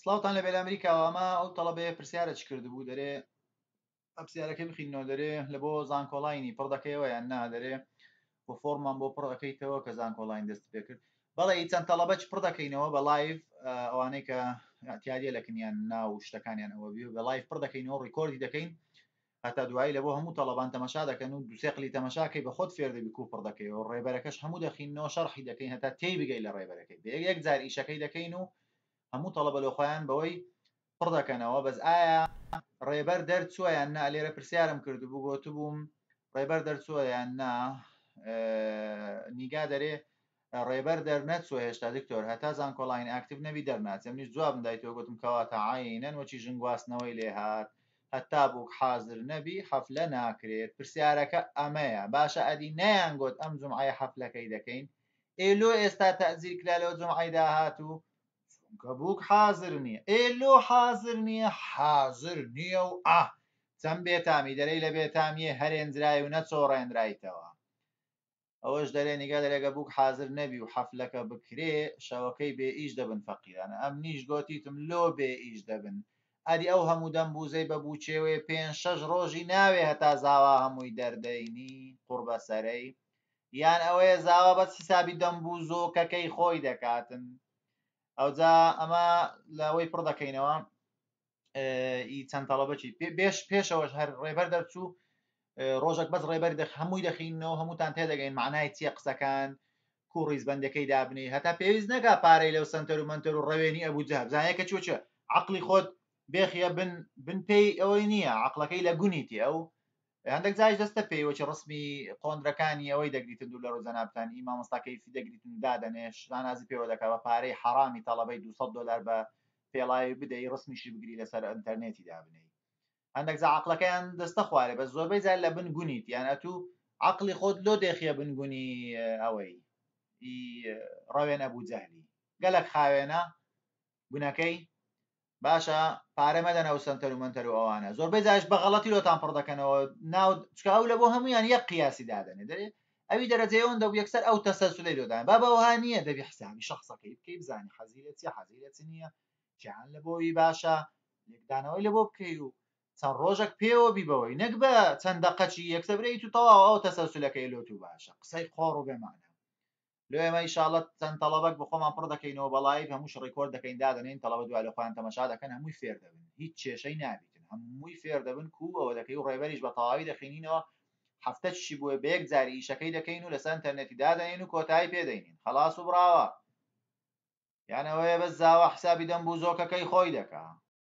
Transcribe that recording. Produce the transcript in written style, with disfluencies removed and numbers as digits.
سڵاوتان لەبێ لە ئەمریکاوە ئەمە ئەو تەڵەبەیە پرسیارە چ کردبوو دەرێ پرسیارەکەی بخینەوە دەرێ لە بۆ زانکۆڵاینی پڕ دەکەیەوە یان نا دەرێ بۆ فۆرمان بۆ پڕ ئەەکەیتەوە کە زانکۆڵاین دەست پێ کرد بەڵێ ئی چەند تەڵەبەچ پڕ دەکەینەوە بە live ئەوانەی کە اعتیادیە لە کنیان ناو شتەکانیان ئەوە بی بە live پڕ دەکەینەوە record ی دەکەین هەتا دوایی لە بۆ هەموو تەڵەبان تەمەشا دەکەن و دوسێ قلی تەمەشاکەی بە خۆت فێر دەبی کو پڕ دەکەیەوە ڕێبەرەکەش هەموو دەخینەوە شەرحی دەکەین هەتا تێی بگەی لە ڕێبەرەکەی بە یەک جار ئیشەکەی دەکەین و هەموو تەڵەبە لۆ خۆیان بەوەی پڕ دەکەنەوە بەس ئایا ڕێبەر دەرچووە یان نا لێرە پرسیارم کردبوو گۆتبووم ڕێبەر دەرچووە یان نا نیگا دەرێ ڕێبەر دەرنەچووە هێشتا دکتۆر هەتا زانکۆلاین active نەبی دەرناچێ منیش جوابم دایتەوە گوتم کەواتە عەینەن وەچی ژن گواستنەوەی لێهات هەتا بووک حازر نەبی حەفلە ناکرێت پرسیارەکە ئەمەیە باشە ئەدی نەیان گۆت ئەم جومعەیە حەفلەکەی دەکەین ئێ لۆ ئێستا تەئجیل کرا لۆ جومعەی داهاتوو چونکە بووک حازر نییە ئێ لۆ حازر نییە حازر نییە و ئا چەند بێتامی دەرەی لە بێتامیێ هەرێنجرای و نەچۆڕێنرایتەوە ئەوەش دەرێ نیگا دەرێ گە بووک حازر نەبی و حەفلەکە بکرێ شەوەکەی بێ ئیش دەبن فەقیرانە ئەمنیش گۆتیتم لۆ بێ ئیش دەبن ئەدی ئەو هەموو دەم بووزەی بە بووچێوێ پێنج شەش ڕۆژی ناوێ هەتا زاوا هەمووی دەردەینی قوڕبەسەرەی یان ئەوەیە زاوا بەس حیسابی دەم بووزۆکەکەی خۆی دەکاتن ئەوجا ئەمە لەوەی پڕ دەکەینەوە ئی چەند تەڵەبەکی بێش پێشەوەش هەر ڕێبەر دەرچوو ڕۆژێک بەس ڕێبەر دەخ هەمووی دەخینەوە هەمووتان تێدەگەین معنای چییە قسەکان کو ڕیزبندەکەی دابنی هەتا پێویست نەکا پارەی لەو سنتەر و منتەر و ڕەوێنی ئەبوو جەهب زانە کە چوە چێ عقلی خۆت بێخیە بن بن پێی ئەوەی نییە عقلەکەی لە گونیتی ئەو هەندێک جاریش دەستە پێی وەکی ڕسمی قۆندرەکانی ئەوەی دەگریتن دوو لە ڕوو جەنابتان ئی مامۆستا کەیفی دەگریتن و دادەنێ شانازی پێوە دەکا بە پارەی حەڕامی تەڵەبەی 200 دۆلار بە پێڵاوی بدەی ڕسمیشی بگری لەسەر ئەنتەرنێتی دابنێی هەندێک جا عەقڵەکەیان دەستە خوارێ بەس زۆربەی جار لە بن گونیت یان ئەتوو عەقڵی خۆت لۆ دێخیە بن گونی ئەوەی ئی ڕەوێن ئەبوو جەهلی گەلەک خاوێنە گونەکەی باشە پارە مەدەن ئەو سەنتەر و مەنتەر و ئەوانە زۆربەی جاش بە غەڵەتی لۆتان پڕ دەکەنەوە ناو چکە ئەو لە بۆ هەمویان یەک قیاسی دادەنێ دەرێ ئەوی دەرەجەی ئەوەندە و یەکسەر ئەو تەسەلسولەی لۆ دانێ بابە ئەوها نییە دەبی حسابی شخصەکەی بکەی بزانی حەزی لە چیە حەزی لە چ نییە چیان لە بۆی باشە لێکدانەوەی لە بۆ بکەی و چەند ڕۆژێک پێوە بی بەوەی نەک بە چەند دەقەچی یەکسەر برێیت و تەواو ئەو تەسەلسولەکەی لۆ تو باشە قسەی قۆڕ و بێمانە لۆ ئێمە ئیشاڵە چەند تەڵەبەک بە خۆمان پڕ دەکەینەوە بە live هەمووش record دەکەین دادەنێین تەڵەبە دوای لە خۆیان تەمەشا دەکەن هەمووی فێر دەبن هیچ کێشەی نابیتن هەمووی فێر دەبن کوو ئەوە دەکەی و ڕێبەریش بە تەواوی دەخینینەوە هەفتە چی بووە بە یەک جاری ئیشەکەی دەکەین و لەسەر ئینتەرنێتی دادەنێین و کۆتایی پێ دەینین خەڵاس و بڕاوە یان ئەوەیە بەس زاوا حسابی دەم بوو زۆکەکەی خۆی دەکا.